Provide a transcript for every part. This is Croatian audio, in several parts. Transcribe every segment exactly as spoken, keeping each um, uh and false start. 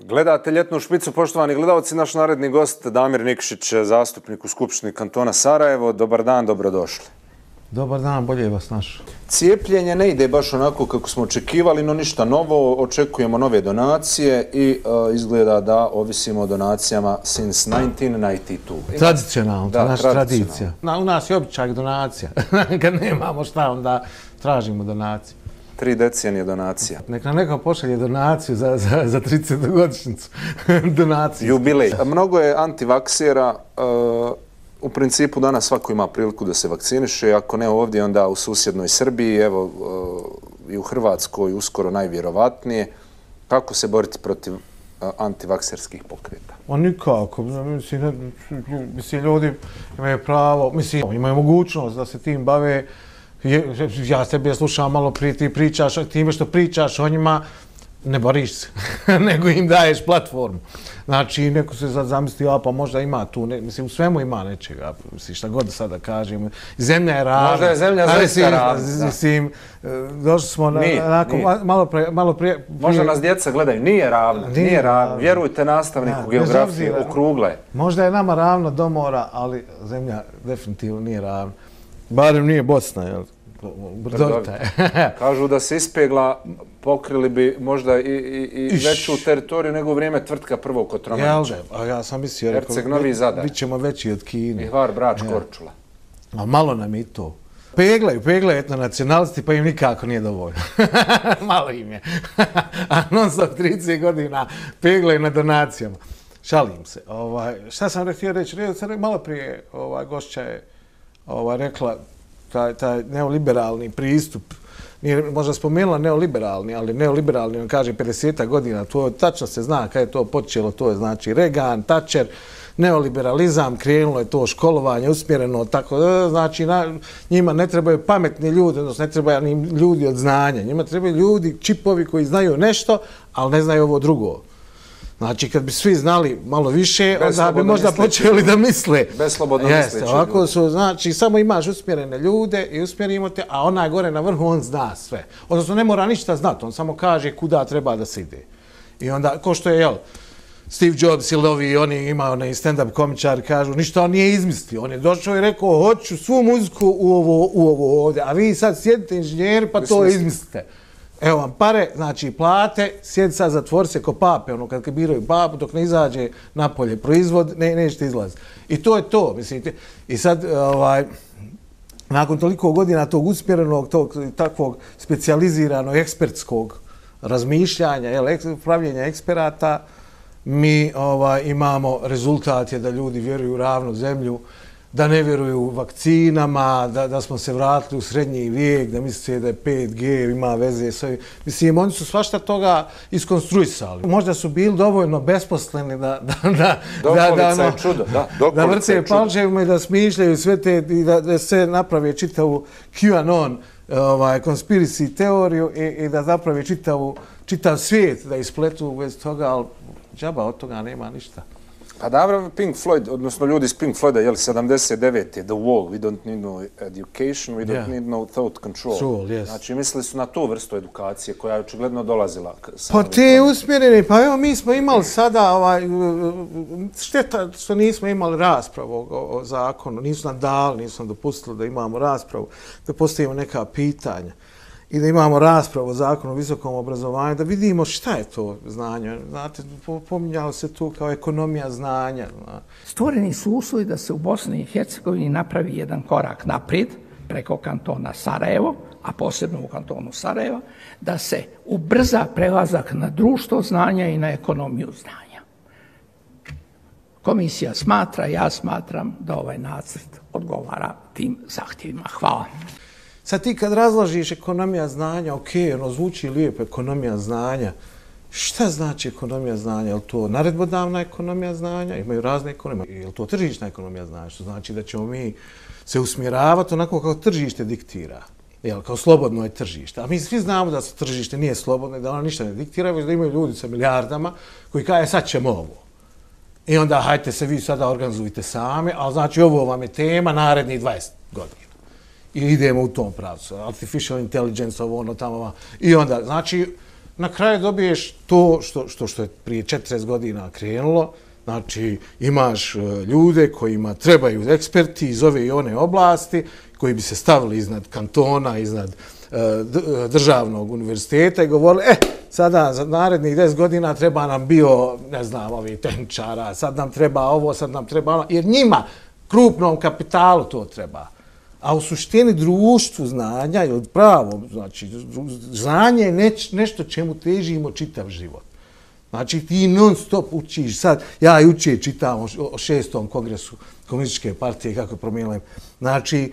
Gledate Ljetnu špicu, poštovani gledalci, naš naredni gost Damir Nikšić, zastupnik u Skupštini kantona Sarajevo. Dobar dan, dobrodošli. Dobar dan, bolje vas našao. Cijepljenje ne ide baš onako kako smo očekivali, no ništa novo. Očekujemo nove donacije i uh, izgleda da ovisimo o donacijama since nineteen ninety-two. Tradicionalno, da, naša tradicija. Na, u nas je običaj donacija. Kad nemamo šta, onda tražimo donaciju. Tri decenije donacija. Nek nam neko pošalje donaciju za, za, za tridesetogodišnjicu. Donaciju. Jubilej. Mnogo je antivaksera. Uh, u principu danas svako ima priliku da se vakciniše. Ako ne ovdje, onda u susjednoj Srbiji, evo uh, i u Hrvatskoj uskoro najvjerovatnije. Kako se boriti protiv uh, antivakserskih pokreta? Ma nikako. Mislim, mislim, ljudi imaju pravo, mislim, imaju mogućnost da se tim bave. Ja tebe slušam malo prije, ti pričaš, time što pričaš o njima, ne boriš se, nego im daješ platformu. Znači, neko se sad zamisli, a pa možda ima tu, ne, mislim, u svemu ima nečega, mislim, šta god sada kažem. Zemlja je ravna. Možda je zemlja zaista ravna. Mislim, došli smo na, nije, onako, nije. malo prije... Malo prije možda nas djeca gledaju, nije ravna, nije, nije ravna. Vjerujte nastavniku ja, geografije, okrugla je. Možda je nama ravno do mora, ali zemlja definitivno nije ravna. Barem nije Bosna, jel? Brdovita je. Kažu da se ispegla, pokrili bi možda i, i, i veću teritoriju nego u vrijeme tvrtka prvog Kotromanića. Jel, a ja sam mislio, Herceg Novi Zadar. Bit ćemo veći od Kine. I Hvar, Brač, Korčula. A malo nam i to. Peglaju, peglaju etnonacionalisti, pa im nikako nije dovoljno. Malo im je. A non stop trideset godina peglaju na donacijama. Šalim se. Ovaj, šta sam htio reći? Malo prije ovaj, gošća je ovaj, rekla taj, taj neoliberalni pristup. Nije možda spomenula neoliberalni, ali neoliberalni, on kaže pedeset godina, to tačno se zna kada je to počelo, to je znači Reagan, Thatcher, neoliberalizam, krenulo je to školovanje, usmjereno, tako da, znači na, njima ne trebaju pametni ljudi, odnosno ne trebaju ni ljudi od znanja, njima trebaju ljudi, čipovi koji znaju nešto, ali ne znaju ovo drugo. Znači, kad bi svi znali malo više, onda bi možda počeli da misle. Bez slobodno misleći. Ovako su, znači, samo imaš usmjerene ljude i usmjerimo te, a onaj gore na vrhu, on zna sve. Odnosno, ne mora ništa znati, on samo kaže kuda treba da se ide. I onda, ko što je, jel, Steve Jobs ili ovi, oni imaju onaj stand-up komičari, kažu, ništa on nije izmislio. On je došao i rekao, hoću svu muziku u ovo, u ovo ovdje, a vi sad sjedite inženjeri pa to izmislite. Evo vam pare, znači plate, sjedi sad, zatvori se ko pape, ono kad biraju papu, dok ne izađe napolje proizvod, ne, nećete izlaziti. I to je to, mislite. I sad, ovaj, nakon toliko godina tog usmjerenog, tog takvog specijaliziranog, ekspertskog razmišljanja, jel, pravljenja eksperata, mi ovaj, imamo rezultat je da ljudi vjeruju u ravnu zemlju, da ne vjeruju vakcinama, da, da smo se vratili u srednji vijek, da misle da je pet G ima veze s ovim. Mislim, oni su svašta toga iskonstruisali. Možda su bili dovoljno besposleni da da da da da ono, čudo, da, da vrte palčevima i da smišljaju sve te i da, da se naprave čitavu QAnon ovaj conspiracy teoriju i, i da naprave čitavu čitav svijet da ispletu bez toga, ali džaba od toga nema ništa. Pa dobro, Pink Floyd, odnosno ljudi iz Pink Floyda, jel, sedamdeset devete The Wall, we don't need no education, we don't yeah. need no thought control. Soul, yes. Znači, mislili su na tu vrstu edukacije koja je očigledno dolazila. Pa te usmjereni, pa evo mi smo imali sada, ovaj, šteta što nismo imali raspravu o, o zakonu, nisu nam dali, nisu nam dopustili da imamo raspravu, da postavimo neka pitanja i da imamo raspravu o zakonu o visokom obrazovanju, da vidimo šta je to znanje. Znate, pominjalo se tu kao ekonomija znanja. Stvoreni su uslovi da se u Bosni i Hercegovini napravi jedan korak naprijed preko kantona Sarajevo, a posebno u kantonu Sarajeva, da se ubrza prelazak na društvo znanja i na ekonomiju znanja. Komisija smatra, ja smatram da ovaj nacrt odgovara tim zahtjevima. Hvala. Sad ti kad razložiš ekonomija znanja, ok, ono zvuči lijepo, ekonomija znanja. Šta znači ekonomija znanja? Je li to naredbodavna ekonomija znanja? Imaju razne ekonomije. Je li to tržišna ekonomija znanja? Što znači da ćemo mi se usmjeravati onako kao tržište diktira. Jel, kao slobodno je tržište. A mi svi znamo da su tržište nije slobodno i da ono ništa ne diktira, već da imaju ljudi sa milijardama koji kaže sad ćemo ovo. I onda hajte se vi sada organizujte sami, ali znači ovo vam je tema narednih dvadeset godina. I idemo u tom pravcu. Artificial intelligence, ovo ono tamo. I onda, znači, na kraju dobiješ to što, što, što je prije četrdeset godina krenulo. Znači, imaš ljude kojima trebaju eksperti iz ove i one oblasti, koji bi se stavili iznad kantona, iznad državnog univerziteta i govorili, e, sada za narednih deset godina treba nam bio, ne znam, ovi tehničara, sad nam treba ovo, sad nam treba ono, jer njima, krupnom kapitalu to treba. A u suštini društvu znanja ili pravo, znači, znanje je neć, nešto čemu težimo čitav život. Znači, ti non stop učiš, sad, ja i učije čitam o šestom kongresu Komunističke partije, kako je promijenila. Znači,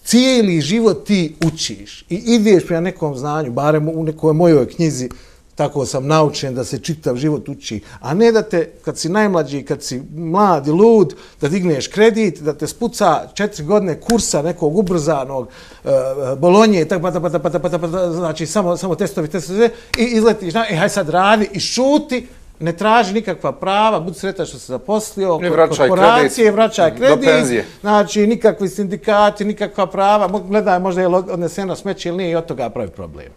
cijeli život ti učiš i ideš prema nekom znanju, barem u nekoj mojoj knjizi, tako sam naučen da se čitav život uči, a ne da te, kad si najmlađi, kad si mlad i lud, da digneš kredit, da te spuca četiri godine kursa nekog ubrzanog uh, Bolonje, tak, pa, pa, pa, pa, pa, znači samo, samo testovi, testovi, i izletiš, na, e, haj sad radi i šuti, ne traži nikakva prava, budi sretan što se zaposlio, korporacije, vraćaj kredit, znači nikakvi sindikati, nikakva prava, gledaj možda je odneseno smeće ili nije i od toga pravi problem.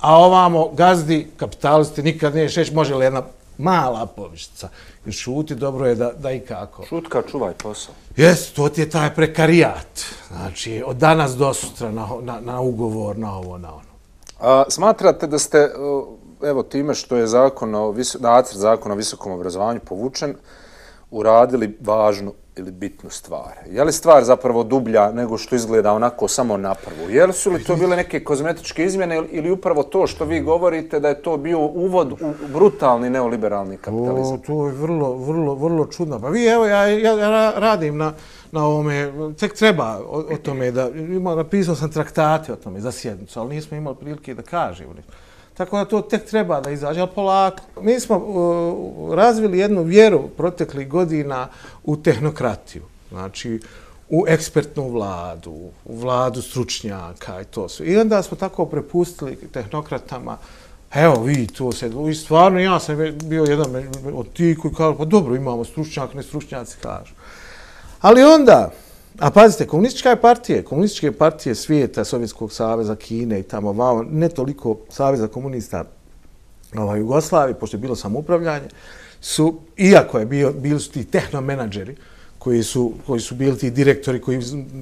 A ovamo gazdi, kapitalisti, nikad nije šeć, može li jedna mala povišica. I šuti, dobro je da, da i kako. Šutka, čuvaj posao. Jes, to ti je taj prekarijat. Znači, od danas do sutra na, na, na ugovor, na ovo, na ono. A, smatrate da ste, evo, time što je zakon o, nacrt zakona o visokom obrazovanju povučen, uradili važnu ili bitnu stvar? Je li stvar zapravo dublja nego što izgleda onako samo na prvu? Je li su li to bile neke kozmetičke izmjene ili upravo to što vi govorite da je to bio uvod u brutalni neoliberalni kapitalizam? O, to je vrlo, vrlo, vrlo čudno. Pa vi, evo, ja, ja radim na, na ovome, tek treba o, o tome da, ima, napisao sam traktate o tome za sjednicu, ali nismo imali prilike da kažemo. Tako da to tek treba da izađe, ali polako. Mi smo uh, razvili jednu vjeru proteklih godina u tehnokratiju. Znači, u ekspertnu vladu, u vladu stručnjaka i to sve. I onda smo tako prepustili tehnokratama, evo vi, to se, i stvarno ja sam bio jedan od tih koji kažu, pa dobro, imamo stručnjak, ne stručnjaci kažu. Ali onda, a pazite, komunistička partije, komunističke partije svijeta, Sovjetskog saveza, Kine i tamo vamo, ne toliko Saveza komunista ovaj, Jugoslavije, pošto je bilo samoupravljanje, su, iako je bio, bili su ti tehnomenadžeri, koji su, koji su bili ti direktori koji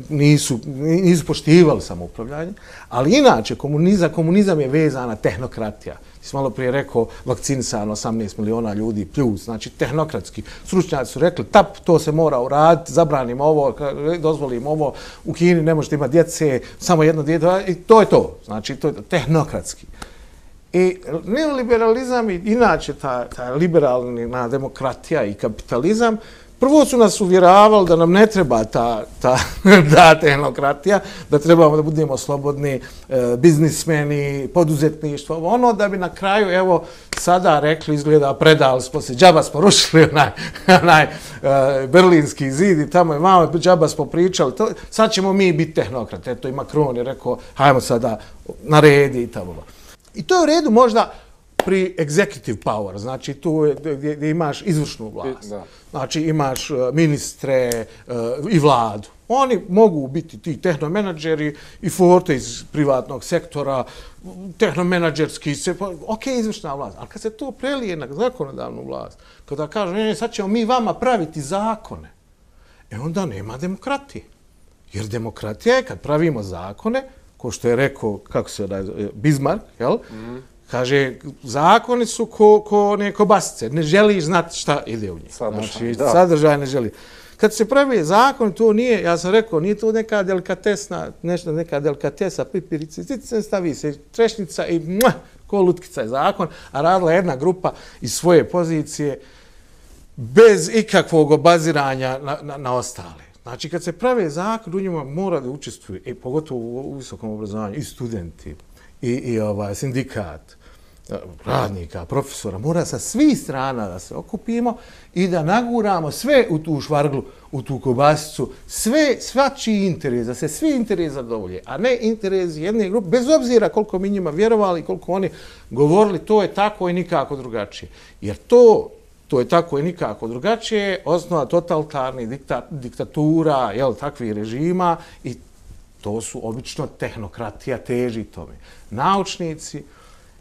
nisu, nisu poštivali samoupravljanje, ali inače komunizam, komunizam je vezana tehnokratija. Ti si malo prije rekao vakcinisano osamnaest miliona ljudi plus, znači tehnokratski. Stručnjaci su rekli, tap, to se mora uraditi, zabranimo ovo, dozvolimo ovo, u Kini ne možete imati djece, samo jedno dijete, i to je to, znači to je tehnokratski. I neoliberalizam i inače ta, ta liberalna demokratija i kapitalizam, prvo su nas uvjeravali da nam ne treba ta, ta, ta tehnokratija, da trebamo da budemo slobodni e, biznismeni, poduzetništvo, ono da bi na kraju, evo, sada rekli, izgleda, predali smo se, džaba smo rušili onaj, onaj e, berlinski zid i tamo je malo, džaba smo pričali, to, sad ćemo mi biti tehnokrati. Eto i Macron je rekao, hajmo sada naredi i tamo. I to je u redu možda pri executive power, znači tu je gdje, gdje imaš izvršnu vlast. Da. Znači imaš ministre uh, i vladu. Oni mogu biti ti tehnomenadžeri i forte iz privatnog sektora, tehnomenadžerski, se, ok, izvršna vlast. Ali kad se to prelije na zakonodavnu vlast, kada kažu, ne, ne, sad ćemo mi vama praviti zakone, e onda nema demokratije. Jer demokratija je kad pravimo zakone, ko što je rekao, kako se da Bismarck, jel? Mm. Kaže, zakoni su ko, ko ne kobasice, ne želiš znati šta ide u njih. Sadržaj, znači, da. sadržaj ne želi. Kad se pravi zakon, to nije, ja sam rekao, nije to neka delikatesna, nešto neka delikatesa, pipirice, cice, stavi se trešnica i muah, ko lutkica je zakon, a radila jedna grupa iz svoje pozicije bez ikakvog obaziranja na, na, na ostale. Znači, kad se pravi zakon, u njima mora da učestvuju, i pogotovo u visokom obrazovanju, i studenti, i, i ovaj, sindikat, radnika, profesora, mora sa svih strana da se okupimo i da naguramo sve u tu švarglu, u tu kobasicu, sve, svačiji interes, da se svi interes zadovolje, a ne interes jedne grupe, bez obzira koliko mi njima vjerovali, koliko oni govorili, to je tako i nikako drugačije. Jer to, to je tako i nikako drugačije, osnova totalitarnih dikta, diktatura, jel, takvih režima i to su obično tehnokratija teži tome. Naučnici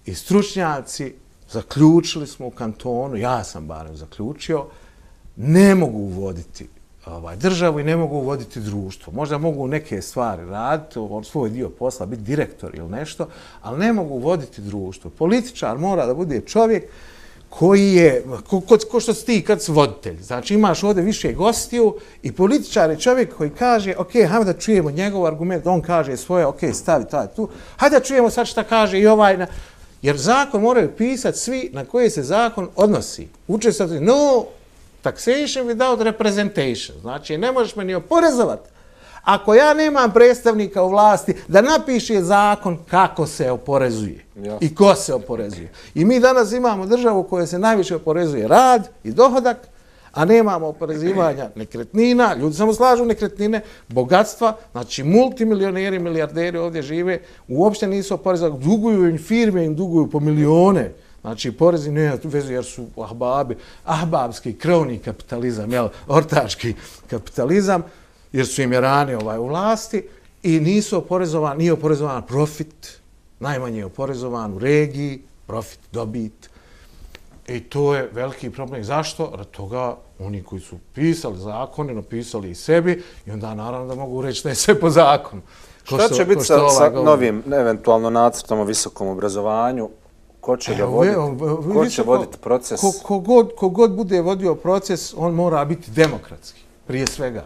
i stručnjaci, zaključili smo u kantonu, ja sam barem zaključio, ne mogu uvoditi ovaj, državu i ne mogu uvoditi društvo. Možda mogu neke stvari raditi, on svoj dio posla, biti direktor ili nešto, ali ne mogu uvoditi društvo. Političar mora da bude čovjek koji je, ko, ko, ko što si ti kad si voditelj. Znači imaš ovdje više gostiju i političar je čovjek koji kaže, ok, hajde da čujemo njegov argument, on kaže svoje, ok, stavi taj tu, hajde da čujemo sad šta kaže i ovaj. Na... Jer zakon moraju pisati svi na koje se zakon odnosi. Učestvati, no taxation without representation. Znači ne možeš me ni oporezovati. Ako ja nemam predstavnika u vlasti da napiše zakon kako se oporezuje Jasne. i ko se oporezuje. I mi danas imamo državu u kojoj se najviše oporezuje rad i dohodak, a nemamo oporezivanja nekretnina, ljudi samo slažu nekretnine, bogatstva, znači multimilioneri, milijarderi ovdje žive, uopšte nisu oporezovani, duguju im firme, im duguju po milijone. Znači, porezi nema veze jer su ahbabi, ahbabski, krvni kapitalizam, jel, ortački kapitalizam, jer su im Irani ovaj, u vlasti i nisu oporezovani, nije oporezovan profit, najmanje je oporezovan u regiji, profit, dobit. I to je veliki problem. Zašto? Rad toga oni koji su pisali zakone, napisali i sebi i onda naravno da mogu reći da je sve po zakonu. Ko Šta što, će biti sa, sa novim, eventualno nacrtom o visokom obrazovanju? Ko će ga voditi? Ko će voditi proces? Ko, ko, god, ko god bude vodio proces, on mora biti demokratski, prije svega.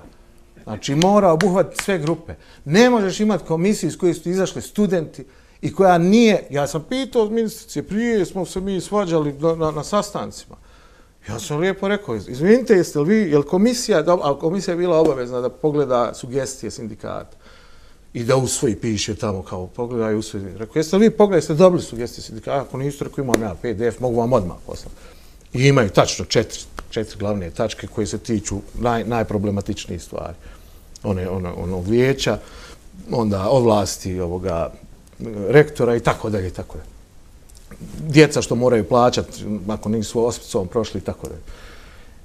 Znači, mora obuhvatiti sve grupe. Ne možeš imati komisiju iz koje su izašli studenti i koja nije... Ja sam pitao od ministrice, prije smo se mi svađali na, na sastancima. Ja sam lijepo rekao, izvinite, jeste li vi, je li komisija, a komisija je bila obavezna da pogleda sugestije sindikata i da usvoji, piše tamo kao pogledaj i usvoji. Rekao, jeste li vi pogledali, jeste dobili sugestije sindikata? Ako niste, rekao, imam ja P D F, mogu vam odmah poslati. I imaju tačno četiri, četiri glavne tačke koje se tiču naj, najproblematičnijih stvari. One, ono, ono vijeća, onda ovlasti ovoga rektora i tako dalje i tako dalje. Djeca što moraju plaćati ako nisu ospicom prošli i tako dalje.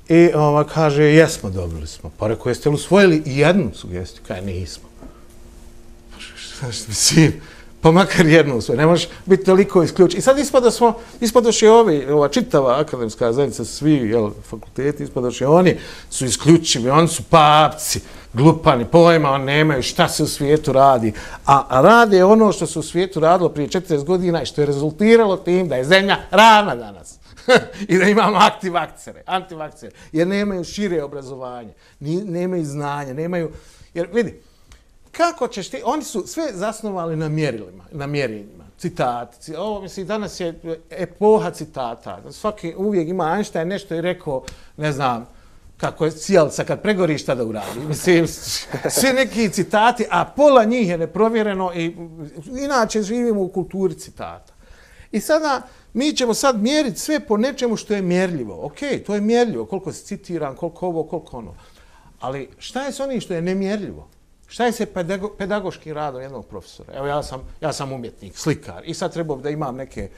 I ova kaže, jesmo, dobili smo. Pa rekao, jeste li usvojili i jednu sugestiju? Kaj, nismo. Mislim, pa makar jednu usvojili. Ne možeš biti toliko isključen. I sad ispada smo, ispadoše ovi, ova čitava akademska zajednica, svi jel, fakulteti, ispadoše oni su isključivi, oni su papci, glupani, pojma, oni nemaju šta se u svijetu radi. A, a rade ono što se u svijetu radilo prije četrdeset godina i što je rezultiralo tim da je zemlja ravna danas. I da imamo aktivakcere, antivakcere, jer nemaju šire obrazovanje, nemaju znanja, nemaju... Jer vidi, kako ćeš ti... Oni su sve zasnovali na mjerilima, na mjerenjima, citati. Ovo, mislim, danas je epoha citata. Svaki uvijek ima Einstein nešto i rekao, ne znam, kako je cijelca kad pregori šta da uradi. Mislim, sve neki citati, a pola njih je neprovjereno i inače živimo u kulturi citata. I sada mi ćemo sad mjeriti sve po nečemu što je mjerljivo. Ok, to je mjerljivo, koliko se citiram, koliko ovo, koliko ono. Ali šta je s onim što je nemjerljivo? Šta je se pedago, pedagoškim radom jednog profesora? Evo ja sam, ja sam umjetnik, slikar i sad trebao da imam neke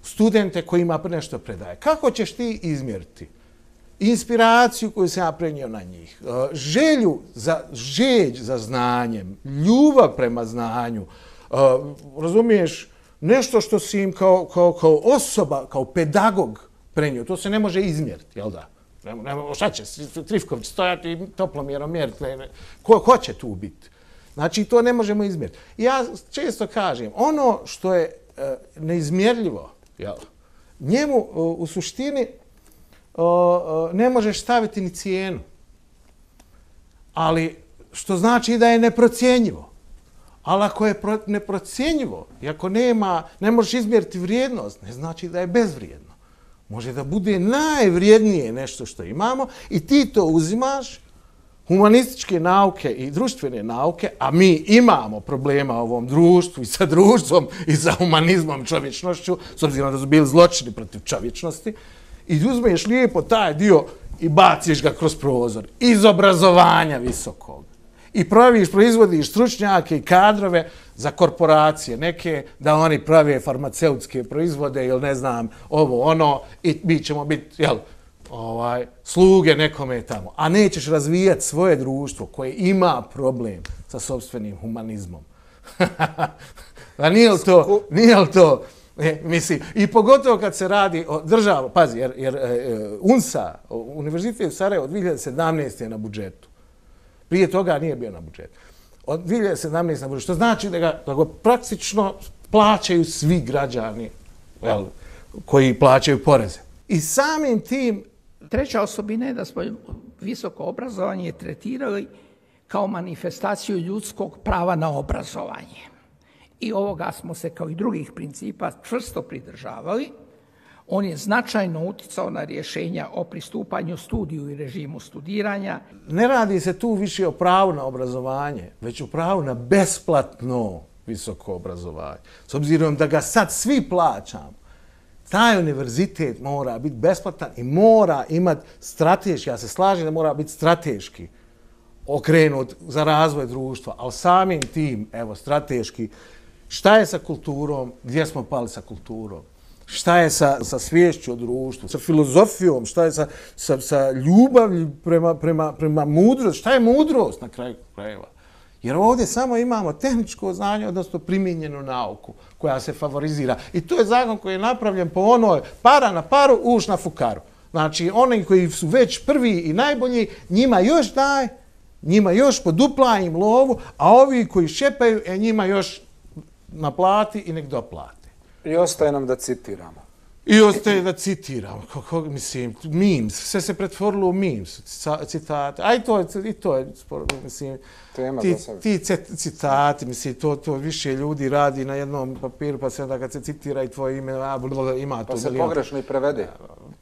studente kojima nešto predaje. Kako ćeš ti izmjeriti inspiraciju koju sam ja prenio na njih, želju za, žeđ za znanjem, ljubav prema znanju, razumiješ, nešto što si im kao, kao, kao osoba, kao pedagog prenio, to se ne može izmjeriti, jel da? Ne, ne, šta će, Trifković stojati i toplomjerom mjeriti, ne, ne. Ko, ko će tu biti? Znači, to ne možemo izmjeriti. Ja često kažem, ono što je e, neizmjerljivo, jel, njemu o, u suštini o, o, ne možeš staviti ni cijenu. Ali, što znači da je neprocjenjivo. Ali ako je pro, neprocjenjivo i ako nema, ne možeš izmjeriti vrijednost, ne znači da je bezvrijedno. Može da bude najvrijednije nešto što imamo i ti to uzimaš, humanističke nauke i društvene nauke, a mi imamo problema u ovom društvu i sa društvom i sa humanizmom, čovječnošću, s obzirom da su bili zločini protiv čovječnosti, i uzmeš lijepo taj dio i baciš ga kroz prozor iz obrazovanja visokog. I praviš, proizvodiš stručnjake i kadrove za korporacije, neke da oni prave farmaceutske proizvode ili ne znam, ovo, ono, i mi ćemo biti, jel, ovaj, sluge nekome tamo. A nećeš razvijati svoje društvo koje ima problem sa sopstvenim humanizmom. A nije li to, nije li to E, mislim, i pogotovo kad se radi o državu, pazi, jer, jer e, UNSA, Univerzitet u Sarajevu od dvije hiljade sedamnaeste je na budžetu. Prije toga nije bio na budžetu. Od dvije hiljade sedamnaeste na budžetu, što znači da ga, da ga praktično plaćaju svi građani, jel, koji plaćaju poreze. I samim tim... Treća osobina je da smo visoko obrazovanje tretirali kao manifestaciju ljudskog prava na obrazovanje. I ovoga smo se kao i drugih principa čvrsto pridržavali. On je značajno uticao na rješenja o pristupanju studiju i režimu studiranja. Ne radi se tu više o pravu na obrazovanje, već o pravu na besplatno visoko obrazovanje. S obzirom da ga sad svi plaćamo, taj univerzitet mora biti besplatan i mora imati strateški, ja se slažem da mora biti strateški okrenut za razvoj društva, ali samim tim, evo, strateški, šta je sa kulturom, gdje smo pali sa kulturom, šta je sa, sa sviješću o društvu, sa filozofijom, šta je sa, sa, sa ljubavlju prema, prema, prema mudrosti, šta je mudrost na kraju krajeva. Jer ovdje samo imamo tehničko znanje, odnosno primijenjenu nauku koja se favorizira. I to je zakon koji je napravljen po onoj para na paru, uš na fukaru. Znači, oni koji su već prvi i najbolji, njima još daj, njima još podupla im lovu, a ovi koji šepaju, e, njima još naplati i nek doplate. I ostaje nam da citiramo. I ostaje da citiramo, kako, mislim, memes, sve se pretvorilo u memes, citate, a i to je, i to je mislim, tema ti, za ti citati, mislim, to, to više ljudi radi na jednom papiru, pa se onda kad se citira i tvoje ime, a, blablabla, ima to. Pa se pogrešno i prevede.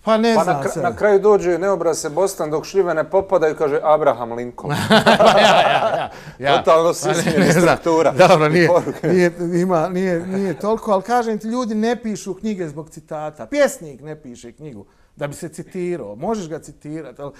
Pa ne pa znam na, kra se. na kraju dođe neobraz se Bostan dok šljive ne popadaju, kaže Abraham Lincoln. ja, ja, ja, ja. Totalno se smijeni struktura. Dobro, nije, nije, ima, nije, nije toliko, ali kažem ti, ljudi ne pišu knjige zbog citata. Pjesnik ne piše knjigu da bi se citirao. Možeš ga citirati, ali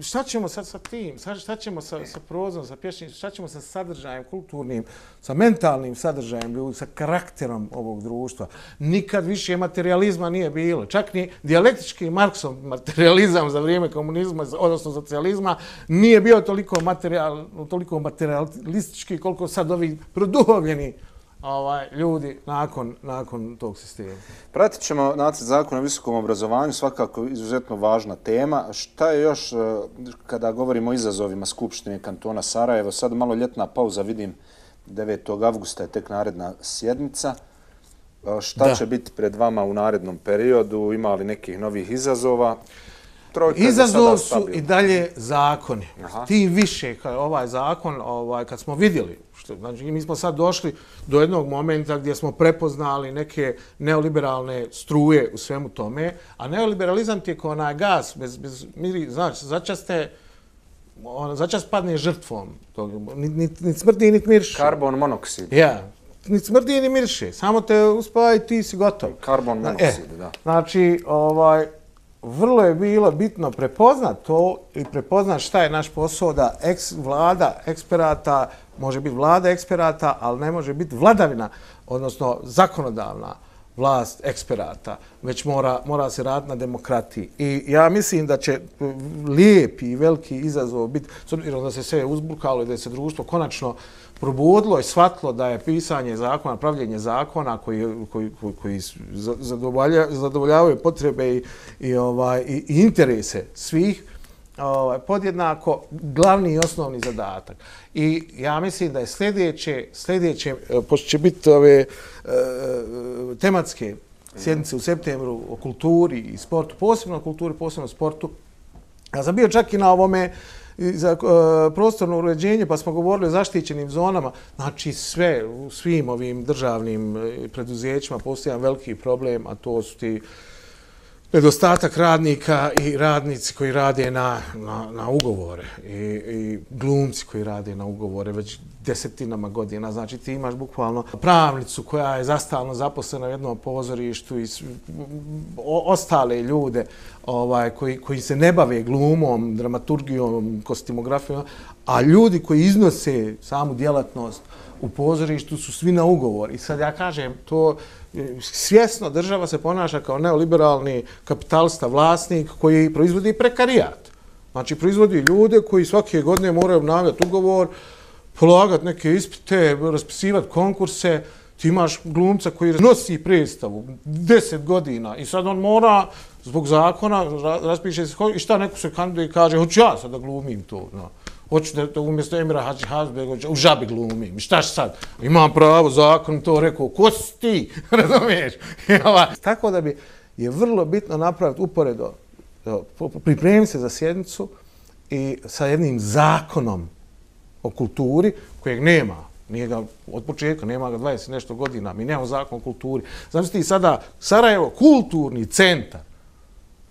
šta ćemo sad sa tim? Šta ćemo sa, sa prozom, sa pješnim? Šta ćemo sa sadržajem kulturnim, sa mentalnim sadržajem ljudi, sa karakterom ovog društva? Nikad više materializma nije bilo. Čak ni dijalektički Marksov materializam za vrijeme komunizma, odnosno socijalizma, nije bio toliko, materijal, toliko materialistički koliko sad ovi produhovljeni ovaj, ljudi nakon, nakon tog sistema. Pratit ćemo nacrt zakona o visokom obrazovanju, svakako izuzetno važna tema. Šta je još, kada govorimo o izazovima Skupštine kantona Sarajevo, sad malo ljetna pauza, vidim devetog avgusta je tek naredna sjednica. Šta da. će biti pred vama u narednom periodu? Ima li nekih novih izazova? Trojka Izazov su i dalje zakoni. Aha. Tim više, kao ovaj zakon, ovaj, kad smo vidjeli, što, znači mi smo sad došli do jednog momenta gdje smo prepoznali neke neoliberalne struje u svemu tome, a neoliberalizam ti je kao onaj gas, bez, bez miri, znači, začas te, on, začas padne žrtvom, niti nit, nit smrdi, niti mirše. Karbon monoksid. Ja, niti smrdi, ni mirše, samo te uspava i ti si gotov. Karbon monoksid, e, da. Znači, ovaj, vrlo je bilo bitno prepoznat to i prepoznat šta je naš posao da eks, vlada eksperata, može biti vlada eksperata, ali ne može biti vladavina, odnosno zakonodavna vlast eksperata, već mora, mora se raditi na demokratiji. I ja mislim da će lijepi i veliki izazov biti, s obzirom da se sve uzburkalo i da se društvo konačno probudilo i shvatilo da je pisanje zakona, pravljenje zakona koji, koji, koji, koji zadovolja, zadovoljavaju potrebe i, i, ovaj, i, i interese svih, ovaj, podjednako glavni i osnovni zadatak. I ja mislim da je sljedeće, sljedeće pošto će biti ove e, tematske sjednice u septembru o kulturi i sportu, posebno o kulturi, posebno o sportu. Ja sam bio čak i na ovome za uh, prostorno uređenje, pa smo govorili o zaštićenim zonama. Znači sve, u svim ovim državnim preduzećima postoji jedan veliki problem, a to su ti nedostatak radnika i radnici koji rade na, na, na ugovore i, i glumci koji rade na ugovore već desetinama godina. Znači ti imaš bukvalno pravnicu koja je zastalno zaposlena u jednom pozorištu i o, ostale ljude ovaj, koji, koji se ne bave glumom, dramaturgijom, kostimografijom, a ljudi koji iznose samu djelatnost u pozorištu su svi na ugovor. I sad ja kažem, to svjesno država se ponaša kao neoliberalni kapitalista, vlasnik koji proizvodi prekarijat. Znači, proizvodi ljude koji svake godine moraju obnavljati ugovor, polagati neke ispite, raspisivati konkurse, Ti imaš glumca koji nosi predstavu deset godina i sad on mora, zbog zakona, raspiše se i šta neko se kandiduje i kaže, hoću ja sad da glumim to. No. Hoću da, da umjesto Emira Hadžibegovića u Žabi glumim. Šta sad? Imam pravo, zakon to rekao. Ko si ti? Razumiješ? Tako da bi je vrlo bitno napraviti uporedo, pripremiti se za sjednicu i sa jednim zakonom o kulturi kojeg nema. Nije ga od početka, nema ga dvadeset nešto godina. Mi nemamo zakon o kulturi. Znači ti sada Sarajevo, kulturni centar.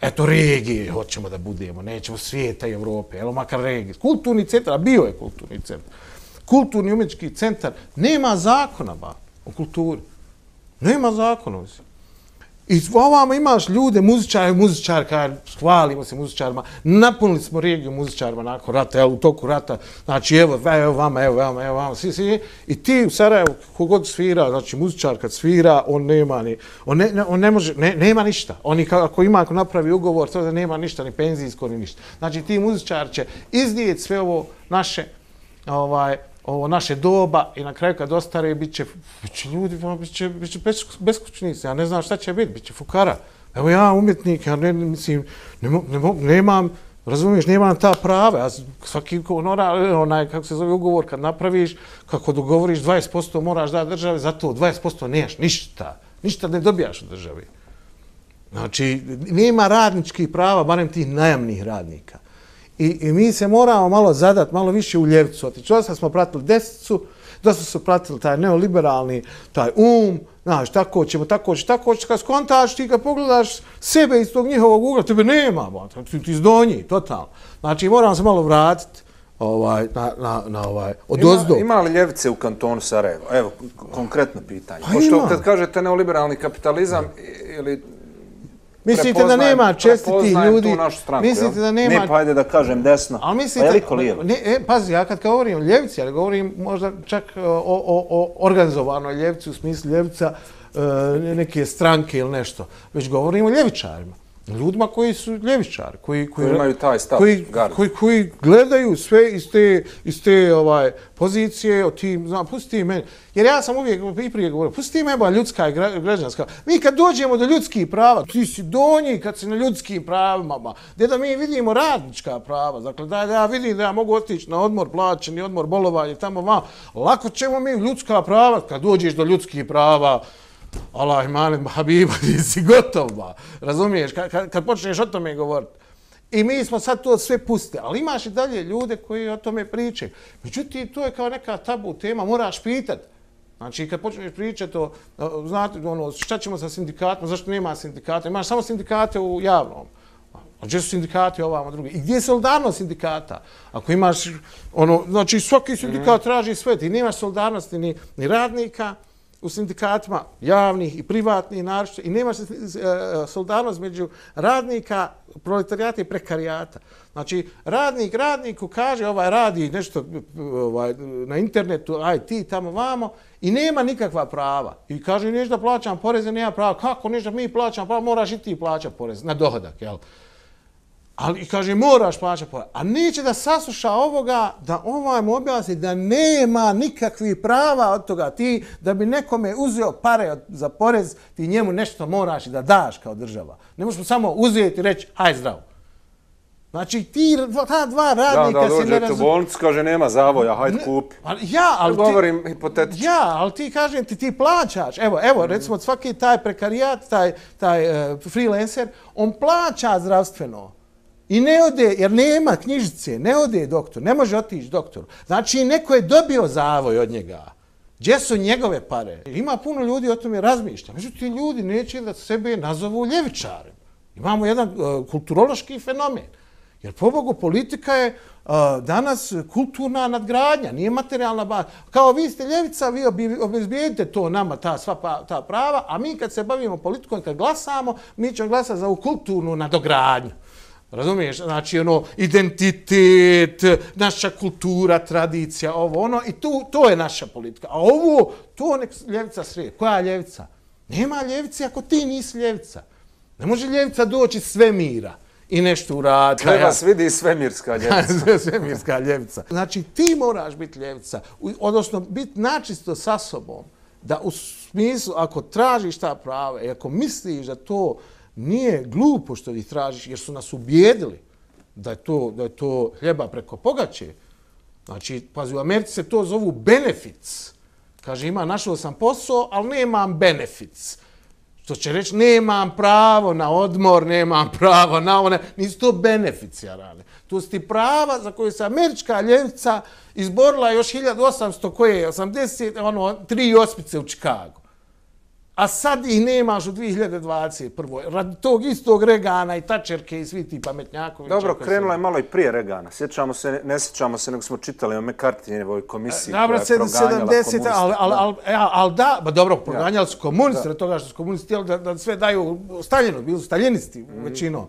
Eto, regije hoćemo da budemo, nećemo svijeta i Evrope, evo makar regije. Kulturni centar, a bio je kulturni centar. Kulturni umjetnički centar, nema zakona ba, o kulturi. Nema zakona. I ovamo imaš ljude, muzičari, muzičari, hvalimo se muzičarima, napunili smo regiju muzičarima nakon rata, evo, u toku rata, znači evo, evo vama, evo vama, evo vama, svi, svi. I ti u Sarajevu, kogod svira, znači muzičar kad svira, on nema ni, on ne, on ne može, ne, nema ništa. Oni ako ima, ako napravi ugovor, to da nema ništa, ni penzijsko, ni ništa. Znači ti muzičar će izdijeti sve ovo naše, ovaj, ovo naše doba i na kraju kad ostare bit će, bit će ljudi, bit će, bit će beskućnici, ja ne znam šta će biti, bit će fukara. Evo ja umjetnik, ja ne, mislim, ne, ne, nemam, razumiješ, nemam ta prava. Ja svaki onora, onaj, kako se zove ugovor, kad napraviš, kako dogovoriš dvadeset posto moraš dati državi, zato dvadeset posto nemaš ništa. Ništa ne dobijaš od državi. Znači, nema radničkih prava, barem tih najamnih radnika. I, I mi se moramo malo zadati, malo više u ljevcu. Dosta smo pratili desnicu, dosta su pratili taj neoliberalni, taj um, znaš, tako ćemo, tako ćemo, tako ćemo, kad skontaš, ti kad pogledaš sebe iz tog njihovog ugla, tebe nema, ba, ti, ti zdonji, totalno. Znači, moramo se malo vratiti ovaj, na, na, na ovaj, odozdo. Ima, ima li ljevice u kantonu Sarajevo? Evo, konkretno pitanje. Pa pošto kad kažete neoliberalni kapitalizam ili... Mislite da nema čestitih ljudi? Stranku, mislite da nema... Ne, pa ajde da kažem desno. Ali mislite... Veliko lijevo. Ne, e, pazi, ja kad govorim o ljevici, ali govorim možda čak o, o, o organizovanoj ljevici, u smislu ljevica e, neke stranke ili nešto. Već govorim o ljevičarima. Ljudima koji su ljevičari, koji, koji, koji imaju taj stav, koji, koji, koji gledaju sve iz te, iz te ovaj, pozicije, o tim, znam, pusti meni. Jer ja sam uvijek i prije govorio, pusti me ba ljudska i građanska. Mi kad dođemo do ljudskih prava, ti si donji kad si na ljudskim pravima, ba, gdje da mi vidimo radnička prava, dakle da ja vidim da ja mogu otići na odmor plaćeni, odmor bolovanje, tamo vam, lako ćemo mi ljudska prava, kad dođeš do ljudskih prava, Allah imanem Habiba, ti si gotov, ba. Razumiješ, kad, kad počneš o tome govoriti. I mi smo sad to sve puste, ali imaš i dalje ljude koji o tome pričaju. Međutim, to je kao neka tabu tema, moraš pitati. Znači, kad počneš pričati o, znate, ono, šta ćemo sa sindikatima, zašto nema sindikata, imaš samo sindikate u javnom. A gdje su sindikati ovamo drugi? I gdje je solidarnost sindikata? Ako imaš, ono, znači, svaki sindikat traži sve, ti nemaš solidarnosti ni, ni radnika, u sindikatima javnih i privatnih naročito i nema solidarnost među radnika, proletarijata i prekarijata. Znači, radnik radniku kaže ovaj radi nešto ovaj, na internetu, aj ti tamo vamo i nema nikakva prava. I kaže nešto da plaćam poreze, nema prava. Kako nešto mi plaćam prava, moraš i ti plaćati porez na dohodak, jel? Ali kaže moraš plaćati porez. A neće da sasluša ovoga, da ovaj mu objasni da nema nikakvih prava od toga. Ti da bi nekome uzeo pare za porez, ti njemu nešto moraš i da daš kao država. Ne možeš samo uzeti i reći haj zdravo. Znači ti, ta dva radnika da, da, se ne razumiju. Da, da, dođete u bolnicu, kaže nema zavoja, hajde kupi. Ja, ali ti... Govorim hipotetično. Ja, ali ti kažem ti, ti plaćaš. Evo, evo, recimo svaki taj prekarijat, taj, taj uh, freelancer, on plaća zdravstveno. I ne ode, jer nema knjižice, ne ode doktor, ne može otići doktoru. Znači, neko je dobio zavoj od njega. Gdje su njegove pare? Ima puno ljudi o tome razmišlja. Međutim, ljudi neće da sebe nazovu ljevičarem. Imamo jedan uh, kulturološki fenomen. Jer, pobogu, politika je uh, danas kulturna nadgradnja, nije materijalna baza. Kao vi ste ljevica, vi obezbijedite to nama, ta sva pa, ta prava, a mi kad se bavimo politikom, kad glasamo, mi ćemo glasati za ovu kulturnu nadogradnju. Razumiješ? Znači, ono, identitet, naša kultura, tradicija, ovo, ono, i tu, to je naša politika. A ovo, to nek ljevica sredi. Koja ljevica? Nema ljevice ako ti nisi ljevica. Ne može ljevica doći iz svemira i nešto uraditi. Treba se vidi svemirska ljevica. Svemirska ljevica. Znači, ti moraš biti ljevica, odnosno biti načisto sa sobom. da u smislu, ako tražiš ta prava i ako misliš da to nije glupo što ih tražiš, jer su nas ubijedili da je to, da je to hljeba preko pogače. Znači, pazi, u Americi se to zovu benefits. Kaže, ima, našao sam posao, ali nemam benefits. Što će reći, nemam pravo na odmor, nemam pravo na one, nisu to beneficijarane. To su ti prava za koje se američka ljevica izborila još hiljadu osamsto koje, osamdeset, ono, tri ospice u Čikagu. A sad ih nemaš u dvije hiljade dvadeset prve. Radi tog istog Regana i Tačerke i svi ti pametnjakovića. Dobro, krenula je malo i prije Regana. Sjećamo se, ne sjećamo se, nego smo čitali o McCarthyjevoj komisiji koja je proganjala komuniste. Ali al, al, al, da, ba dobro, proganjali su komunisti, od toga što su komunisti htjeli da, da sve daju Staljinu, bili su staljinisti mm. većinom.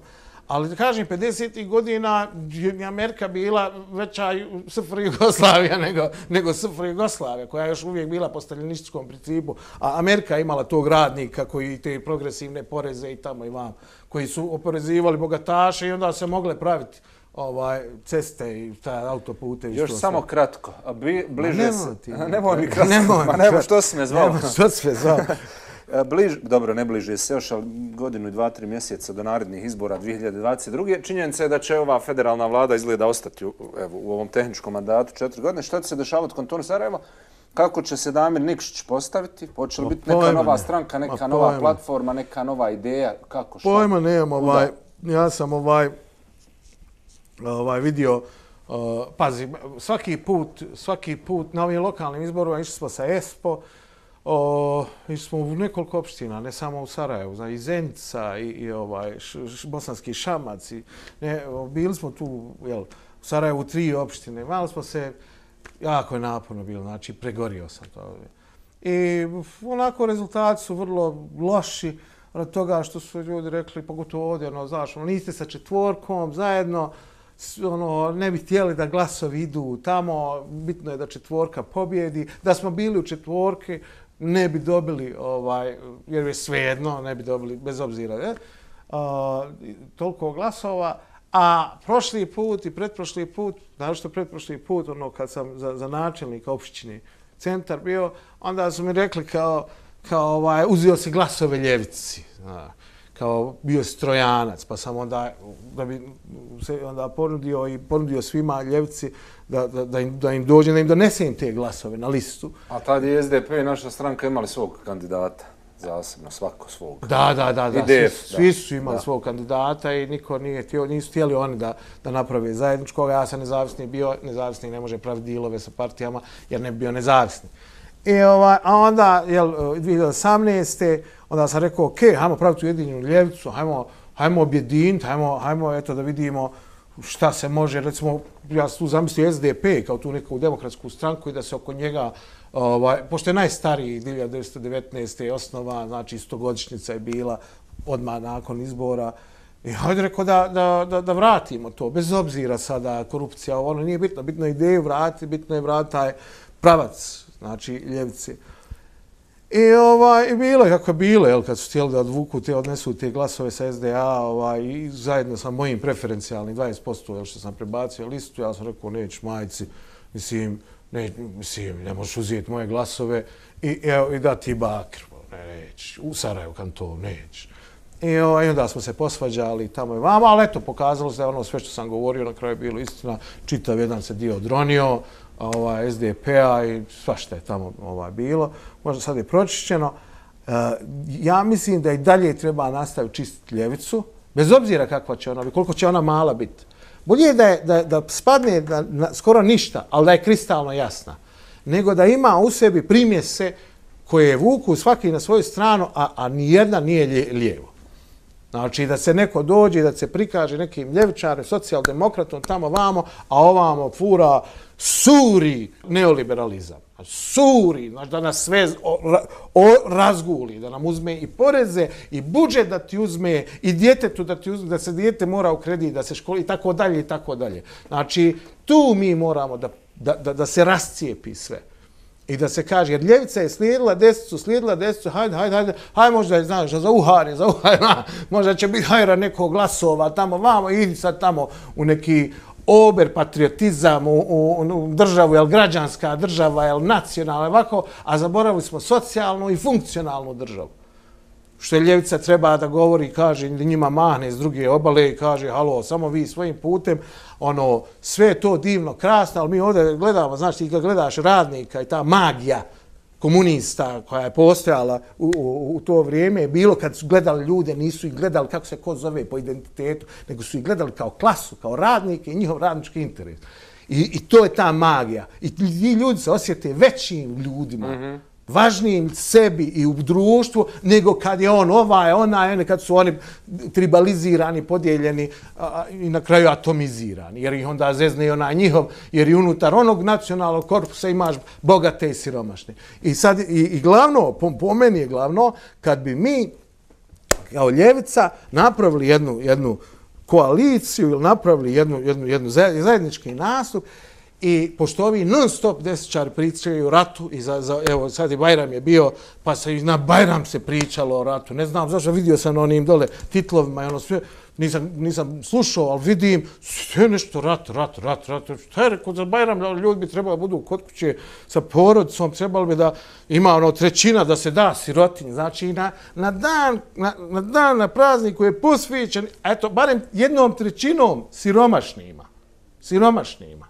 Ali da kažem, pedesetih godina je Amerika bila veća S F R Jugoslavija nego, nego S F R Jugoslavija, koja je još uvijek bila po staljinističkom principu. A Amerika je imala tog radnika koji te progresivne poreze i tamo i vam, koji su oporezivali bogataše i onda se mogle praviti ovaj, ceste i ta autopute. Još samo sve. Kratko, a bi, bliže se... Nemoj mi kratko, nemoj ma nemoj, što si me zvao? Nemoj, što si me zvao? Bliž, dobro, ne bliže se još, ali godinu i dva, tri mjeseca do narednih izbora dvije hiljade dvadeset druge. Činjenica je da će ova federalna vlada izgleda ostati u, evo, u ovom tehničkom mandatu četiri godine. Šta će se dešavati u kantonu Sarajevo? Kako će se Damir Nikšić postaviti? Hoće li biti neka nova stranka, neka nova platforma, neka nova ideja? Kako, šta? Pojma nemam, ovaj, ja sam ovaj, ovaj vidio, uh, pazi, svaki put, svaki put na ovim lokalnim izborima išli smo sa ESPO, O, išli smo u nekoliko opština, ne samo u Sarajevu, znači i Zenica i, i ovaj, š, š, Bosanski Šamac. I, ne, bili smo tu jel, u Sarajevu tri opštine, malo smo se, jako je naporno bilo, znači pregorio sam to. I onako rezultati su vrlo loši od toga što su ljudi rekli, pogotovo ovdje, ono, znaš, ono, niste sa četvorkom zajedno, ono, ne bi htjeli da glasovi idu tamo, bitno je da četvorka pobjedi, da smo bili u četvorke, ne bi dobili, ovaj, jer je svejedno, ne bi dobili, bez obzira, ne? A, toliko glasova. A prošli put i pretprošli put, naravno pretprošli put, ono, kad sam za, za načelnika opštine centar bio, onda su mi rekli kao, kao ovaj, uzio si glasove ljevici, zna, kao bio strojanac, pa sam onda, da bi se onda ponudio i ponudio svima ljevici da, da, da, im, da im dođe, da im donese im te glasove na listu. A tad je S D P i naša stranka imali svog kandidata, zasebno, svako svog. Da, da, da, da. I D F, svi, svi su da, imali da. svog kandidata i niko nije htio, nisu htjeli oni da, da naprave zajedničkoga. Ja sam nezavisni bio, nezavisni ne može praviti dilove sa partijama jer ne bi bio nezavisni. I ovaj, a onda, jel, dvije hiljade osamnaeste. onda sam rekao, ok, hajmo praviti ujedinjenu ljevicu, hajmo, hajmo objediniti, hajmo, hajmo eto da vidimo šta se može, recimo, ja sam tu zamislio S D P kao tu neku demokratsku stranku i da se oko njega, ovaj, pošto je najstariji hiljadu devetsto devetnaeste. osnova, znači stogodišnjica je bila odmah nakon izbora. I hajde rekao da, da, da, da vratimo to, bez obzira sada korupcija, ono nije bitno, bitno je ideju vratiti, bitno je vratiti taj pravac, znači ljevice. I ovaj, bilo je kako je bilo, jel, kad su htjeli da odvuku te, odnesu te glasove sa S D A, ovaj, i zajedno sa mojim preferencijalnim dvadeset posto, jel, što sam prebacio listu, ja sam rekao, neću majici, mislim, ne, mislim, ne možeš uzeti moje glasove i, evo, i da ti bakr, ne, neću, u Sarajevu kanton, neću. I ovaj, onda smo se posvađali tamo i vama, ali eto, pokazalo se da ono sve što sam govorio na kraju bilo istina, čitav jedan se dio odronio, ovaj, S D P-a i svašta je tamo ovaj, bilo. Možda sad je pročišćeno. E, ja mislim da i dalje treba nastaviti čistiti ljevicu, bez obzira kakva će ona biti, koliko će ona mala biti. Bolje je da, je, da, da spadne da, na, skoro ništa, ali da je kristalno jasna, nego da ima u sebi primjese koje vuku svaki na svoju stranu, a, a nijedna nije lje, lijevo. Znači da se neko dođe, da se prikaže nekim ljevičarem, socijaldemokratom tamo vamo, a ovamo fura suri neoliberalizam. Suri, znači da nas sve o, o, razguli, da nam uzme i poreze, i budžet da ti uzme, i djetetu da ti uzme, da se dijete mora u kredit, da se školi, i tako dalje, i tako dalje. Znači, tu mi moramo da, da, da, da se rascijepi sve. I da se kaže, jer ljevica je slijedila desnicu, slijedila desnicu, hajde, hajde, hajde, hajde možda je, znaš, za uhare, za uhare, možda će biti hajra nekog glasova tamo, vamo, idi sad tamo u neki ober patriotizam u, u, u državu, jel građanska država, jel nacionalna, ovako, a zaboravili smo socijalnu i funkcionalnu državu. Što je ljevica treba da govori, kaže, njima mahne s druge obale i kaže, halo, samo vi svojim putem, ono, sve je to divno, krasno, ali mi ovdje gledamo, znači, ti kad gledaš radnika i ta magija komunista koja je postojala u, u, u to vrijeme, bilo kad su gledali ljude, nisu ih gledali kako se ko zove po identitetu, nego su ih gledali kao klasu, kao radnike i njihov radnički interes. I, i to je ta magija. I ti ljudi se osjete većim ljudima, mm-hmm. važnijim sebi i u društvu, nego kad je on ovaj, onaj, kad su oni tribalizirani, podijeljeni a, i na kraju atomizirani. Jer ih onda zezne i onaj njihov, jer i unutar onog nacionalnog korpusa imaš bogate i siromašne. I sad, i, i glavno, po, po meni je glavno, kad bi mi kao ljevica napravili jednu, jednu koaliciju ili napravili jednu, jednu, jednu zajednički nastup, i pošto ovi non stop desničari pričaju o ratu, i za, za, evo sad i Bajram je bio, pa se i na Bajram se pričalo o ratu. Ne znam zašto, vidio sam onim dole titlovima i ono sve, nisam, nisam slušao, ali vidim sve nešto rat, rat, rat, rat. Šta je rekao za Bajram, ljudi bi trebali budu kod kuće sa porodicom, trebali bi da ima ono trećina da se da sirotinji. Znači na, na dan, na, na dan, na prazniku je posvećen, eto, barem jednom trećinom siromašnima. Siromašnima.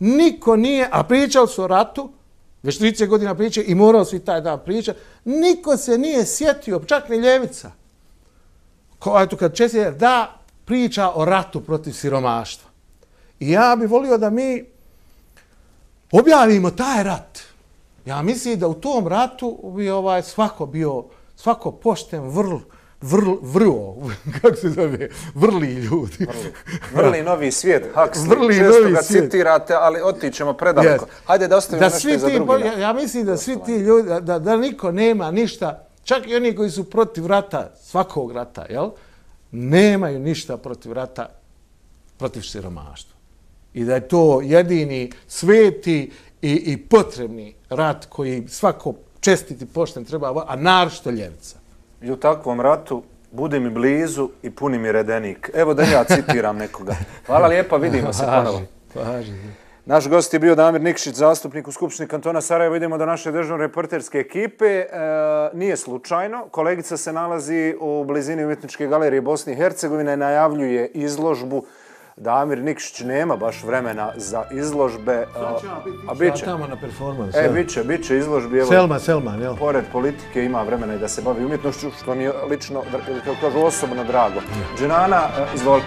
Niko nije, a pričali su o ratu, već trideset godina pričaju i morao su i taj dan pričati, niko se nije sjetio, čak ni ljevica. Ko, eto, kad često da priča o ratu protiv siromaštva. I ja bih volio da mi objavimo taj rat. Ja mislim da u tom ratu bi ovaj svako bio, svako pošten, vrl, vrl, vrlo, kako se zove, vrli ljudi. Vrli, vrli novi svijet, Huxley, često ga svijet. Citirate, ali otićemo predaleko. Yes. Hajde da ostavimo da nešto i za drugi. Ja, ja mislim da svi ti ljudi, da, da niko nema ništa, čak i oni koji su protiv rata, svakog rata, jel? Nemaju ništa protiv rata, protiv siromaštva. I da je to jedini sveti i, i potrebni rat koji svako čestiti pošten treba, a naročito ljevica. I u takvom ratu budi mi blizu i puni mi redenik. Evo da ja citiram nekoga. Hvala lijepa, vidimo se ponovo. Naš gost je bio Damir Nikšić, zastupnik u Skupštini kantona Sarajevo. Idemo do naše državne reporterske ekipe. E, nije slučajno. Kolegica se nalazi u blizini Umjetničke galerije Bosne i Hercegovine, najavljuje izložbu. Damir Nikšić nema baš vremena za izložbe. Sad ću ja biti, biti tamo na performansu. E, bit će, bit će izložbi. Evo, Selma, Selman, jel? Pored politike ima vremena i da se bavi umjetnošću, što mi je lično, kako kažu, osobno drago. Dženana, izvoli.